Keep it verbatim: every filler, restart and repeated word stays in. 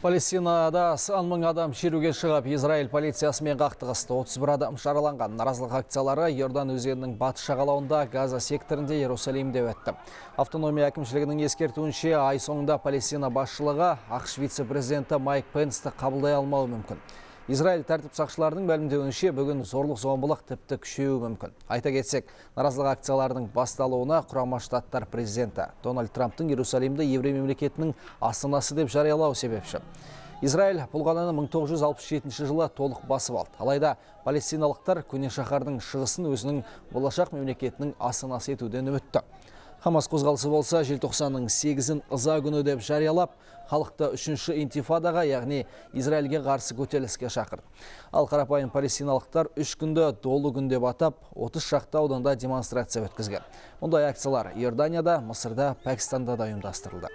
Палестинада сан мың адам шеруге шығып, Израиль полициясымен қақтығысты. отыз бір адам жараланған. Наразылық акциялары Иордан өзенінің батыс жағалауында Газа секторінде Иерусалимде өтті. Автономия әкімшілігінің ескертуінше, ай соңында Палестина басшылығы ақш вице-президенті Майк Пенсті қабылдай алмауы мүмкін. Израиль тәртіп сақшыларының мәлімдеуінше, бүгін зорлық зомбылық тіпті күшеюі мүмкін. Айта кетсек, наразылық акцияларының басталуына Құрама Штаттар президенті Дональд Трамптың Иерусалимді еврей мемлекетінің астанасы деп жариялау себепші. Израиль бұл қаланы мың тоғыз жүз алпыс жетінші жылы толық басып алды. Алайда палестиналықтар көне шаһардың шығысын өзінің болашақ мемлекетінің астанасы етуден үмітті. Хамас қозғалысы болса, желтоқсанның сегізін ыза күні деп жариялап, халықты үшінші интифадаға, яғни Израильге қарсы көтеріліске шақырды. Ал қарапайым палестиналықтар үш күнді долы күн деп атап, отыз шақты ауданда демонстрация өткізген. Мұндай акциялар Иорданияда, Мысырда, Пәкістанда да ұйымдастырылды.